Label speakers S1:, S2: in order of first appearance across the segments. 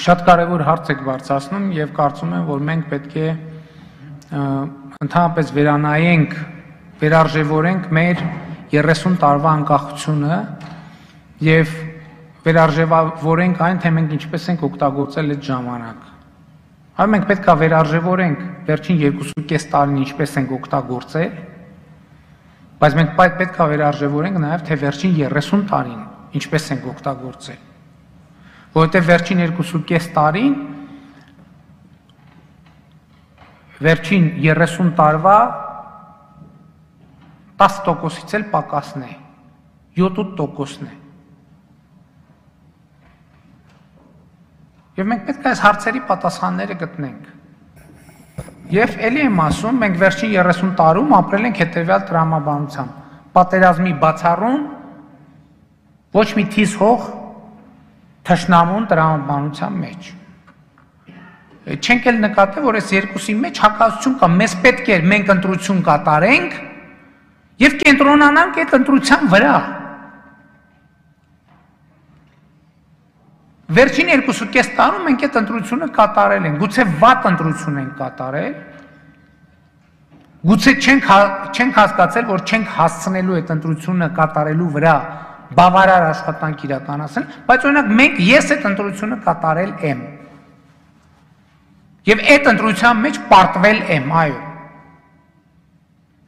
S1: Շատ կարևոր հարց եք բարձրացնում եւ կարծում եմ, որ մենք պետք է ընդհանրապես վերանայենք, վերարժևորենք մեր 30 տարվա անկախությունը եւ վերարժևորենք այն, թե մենք ինչպես ենք օգտագործել այդ ժամանակ։ Այո, մենք պետք է վերարժևորենք վերջին 2.5 տարին ինչպես ենք օգտագործել, բայց մենք պետք է վերարժևորենք նաեւ թե վերջին 30 տարին ինչպես ենք օգտագործել։ Որովհետև վերջին 2.5 տարին վերջին 30 տարվա 10%-ից էլ պակասն է, 7-8%-ն է։ Եվ մենք պետք է այս հարցերի պատասխանները գտնենք։ Եվ էլի եմ ասում, մենք վերջին 30 տարում ապրել ենք հետևյալ տրամաբանությամբ, պատերազմի բացառում, ոչ մի թիզ հող թշնամուն տրամաբանության մեջ։ Չենք էլ նկատել, որ այս երկուսի մեջ հակասություն կա, մեզ պետք է մենք ընտրություն կատարենք եւ կենտրոնանանք այդ ընտրության վրա։ Վերջին 2.5 տարում մենք այդ ընտրությունը կատարել ենք, գուցե վատ ընտրություն ենք կատարել, գուցե չենք հասկացել, որ չենք հասցնելու այդ ընտրությունը կատարելու վրա բավարար աշխատանք իրականացնել, բայց օրինակ մենք ես այդ ընտրությունը կատարել եմ։ Եվ այդ ընտրության մեջ պարտվել եմ, այո։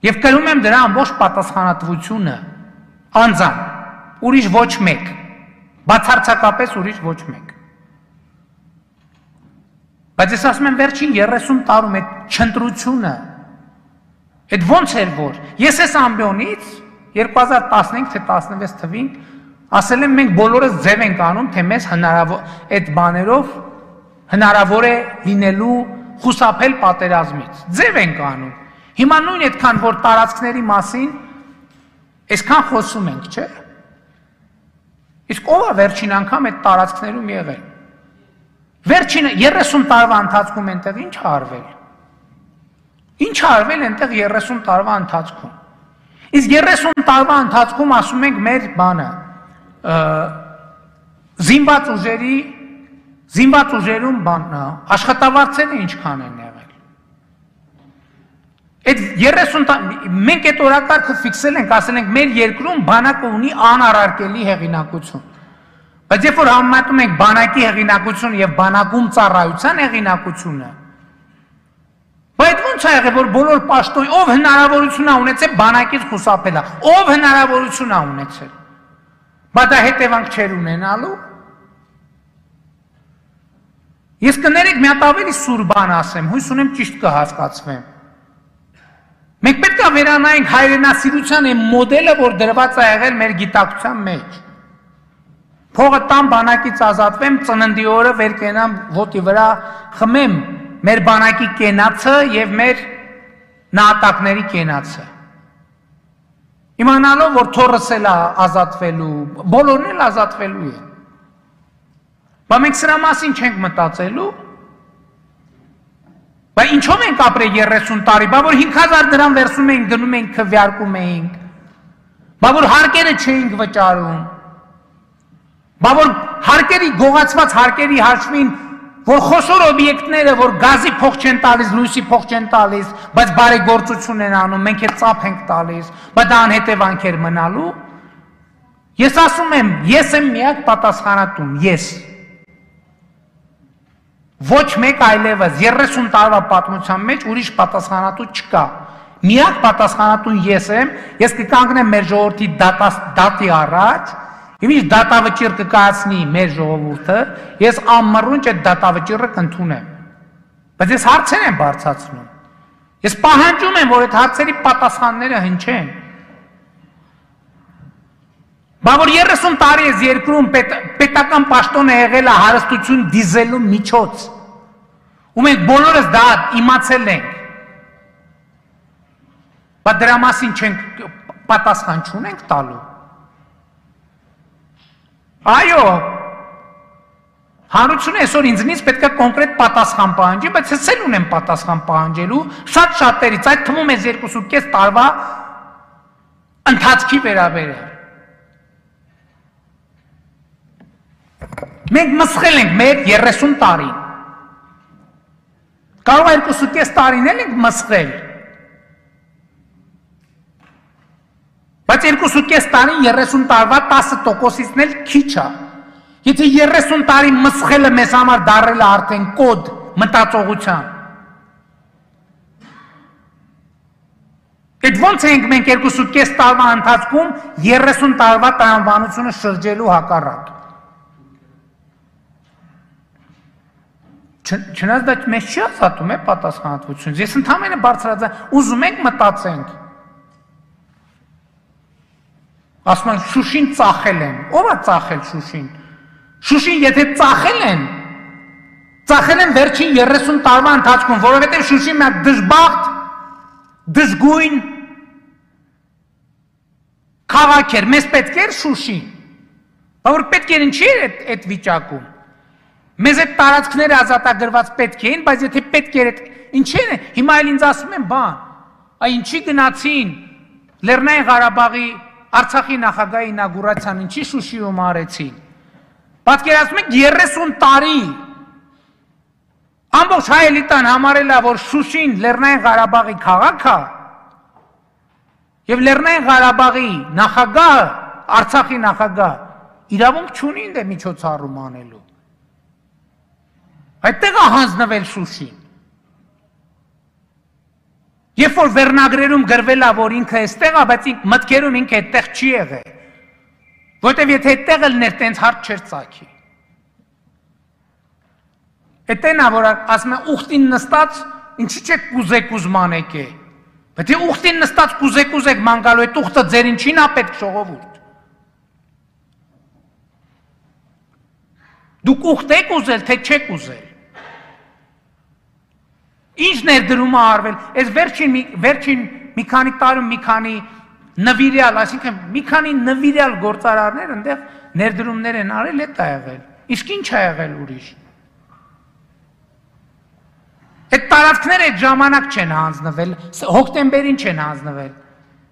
S1: Եվ կրում եմ դրա ամբողջ պատասխանատվությունը, անձամբ, ուրիշ ոչ մեկ, բացարձակապես ուրիշ ոչ մեկ։ Բայց ես ասում եմ վերջին 30 տարում այդ չընտրությունը, այդ ոնց էր որ, ես այս ամբիոնից 2015 թե 16 թվին ասել եմ մենք բոլորս ձև ենք անում, թե մեզ այդ բաներով հնարավոր է լինելու խուսափել պատերազմից։ Ձև ենք անում։ Հիմա նույն այդքան որ տարածքների մասին այսքան խոսում ենք, չէ՞։ Իսկ ով է վերջին անգամ այդ տարածքներում եղել։ Վերջին 30 տարվա ընթացքում այնտեղ ինչ է արվել։ Ինչ է արվել այնտեղ 30 տարվա ընթացքում։ Իսկ 30 տարվա ընթացքում ասում ենք մեր բանը զինված ուժերում բանը աշխատավարձերը ինչքան են եղել։ Այդ 30 մենք այդ օրակարգը ֆիքսել ենք, ասել ենք մեր երկրում բանակը ունի անառարկելի հեղինակություն։ Բայց երբ որ համեմատում ենք բանակի հեղինակություն եւ բանակում ծառայության հեղինակությունը, բայց ո՞նց է եղել, որ բոլոր պաշտոն, ով հնարավորություն է ունեցել բանակից խուսափել, ով հնարավորություն է ունեցել։ Բայց դա հետևանք չեր ունենալու։ Ես կներեք մի հատ ավելի սուր բան ասեմ, հույս ունեմ ճիշտ կհասկացվեմ։ Մենք պետք է վերանայենք հայրենասիրության այն մոդելը, որ դրված է եղել մեր գիտակցության մեջ։ Փողը տամ բանակից ազատվեմ, ծննդի օրը վեր կենամ ոտի վրա խմեմ մեր բանակի կենացը եւ մեր նահատակների կենացը։ Իմանալով, որ թորս էլ ազատվելու, բոլորն էլ ազատվելու են։ Բայց մենք սրա մասին չենք մտածելու։ Բայց ինչով ենք ապրել 30 տարի, բա որ 5000 դրամ վերցնում էինք, գնում էինք, քվեարկում էինք։ Բա որ հարկերը չէինք վճարում։ Բա որ հարկերի գողացված հարկերի հաշվին որ խոշոր օբյեկտները, որ գազի փող չեն տալիս, լույսի փող չեն տալիս, բայց բարեգործություն են անում, մենք էլ ծափ ենք տալիս, բայց դա անհետևանքեր մնալու։ Ես ասում եմ, ես եմ միակ պատասխանատուն, ես։ Ոչ մեկ այլևս 30 տարվա պատմության մեջ ուրիշ պատասխանատու չկա։ Միակ պատասխանատուն ես եմ, ես կկանգնեմ մեր ժողովրդի դատի առաջ, Իմ ինչ դատավճիռ կկայացնի մեր ժողովուրդը, ես անմռունչ այդ դատավճիռը կընդունեմ։ Բայց ես հարցեր եմ բարձրացնում։ Ես պահանջում եմ, որ այդ հարցերի պատասխանները հնչեն։ Բա որ 30 տարի ես երկրում պետական պաշտոն է եղել է հարստություն դիզելու միջոց։ Ու մենք բոլորս դա իմացել ենք։ Բայց դրա մասին չենք պատասխան չունենք տալու։ Այո, հանրությունը այսօր ինձնից պետք է կոնկրետ պատասխան պահանջի, բայց ես էլ ունեմ պատասխան պահանջելու շատ շատերից, այդ թվում ես 2.5 տարվա ընթացքի վերաբերյալ։ Մենք մսխել ենք մեր 30 տարին։ Կարող է 2.5 տարին էլ ենք մսխել։ Բայց 2.5 տարին 30 տարվա 10%-ից էլ քիչ է։ Եթե 30 տարի մսխելը մեզ համար դառել է արդեն կոդ մտածողության։ Այդ ոնց ենք մենք 2.5 տարվա ընթացքում 30 տարվա տրամաբանությունը շրջելու հակառակ։ Չնայած դա մեզ չի ազատում է պատասխանատվությունից։ Ես ընդհանրապես բարձրաձայն ուզում ենք մտածենք։ Ասում են Շուշին ծախել են։ Ո՞վ է ծախել Շուշին։ Շուշին եթե ծախել են վերջին 30 տարվա ընթացքում, որովհետև Շուշին մի դժբախտ, դժգույն քաղաք էր, մեզ պետք էր Շուշին։ Բայց որ պետք էր ինչի էր այդ վիճակում։ Մեզ այդ տարածքները ազատագրված պետք էին, բայց եթե պետք էր այդ ինչի՞ն է, հիմա էլ ինձ ասում են բան, այ ինչի գնացին Լեռնային Ղարաբաղի Արցախի նախագահի ինագուրացիան ինչի Շուշիում արեցին։ Պատկերացնում եք 30 տարի ամբողջ հայ էլիտան համարել է, որ Շուշին Լեռնային Ղարաբաղի քաղաք է, եւ Լեռնային Ղարաբաղի նախագահը, Արցախի նախագահ, իրավունք չունի ինձ միջոցառում անելու։ Այդտեղ է հանձնվել Շուշին։ Երբ որ վերնագրերում գրվել է, որ ինքը այստեղ է, բայց մտքերում ինքը այդտեղ չի եղել։ Որտեւ եթե այդտեղ ելներ, տենց հարց չէր ծագի։ Այդտեղն է, որ ասում են ուխտին նստած, ինչի՞ չեք կուզեք ուզմանեք է։ Բայց եթե ուխտին նստած կուզեք ման գալու, այդ ուխտը ձեր ինչին է պետք ժողովուրդ։ Դուք ուխտ եք ուզել, թե չեք ուզել։ Ինչ ներդրում է արվել, այս վերջին մի քանի տարում մի քանի նվիրյալ, այսինքն մի քանի նվիրյալ գործարարներ այնտեղ ներդրումներ են արել, այդ է եղել։ Իսկ ինչ է եղել ուրիշ։ Այդ տարածքները այդ ժամանակ չեն հանձնվել, հոկտեմբերին չեն հանձնվել։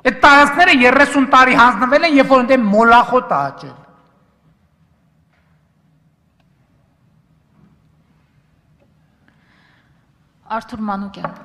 S1: Այդ տարածքները 30 տարի հանձնվել են, երբ որ այնտեղ մոլախոտ է աճել։
S2: Արթուր Մանուկյան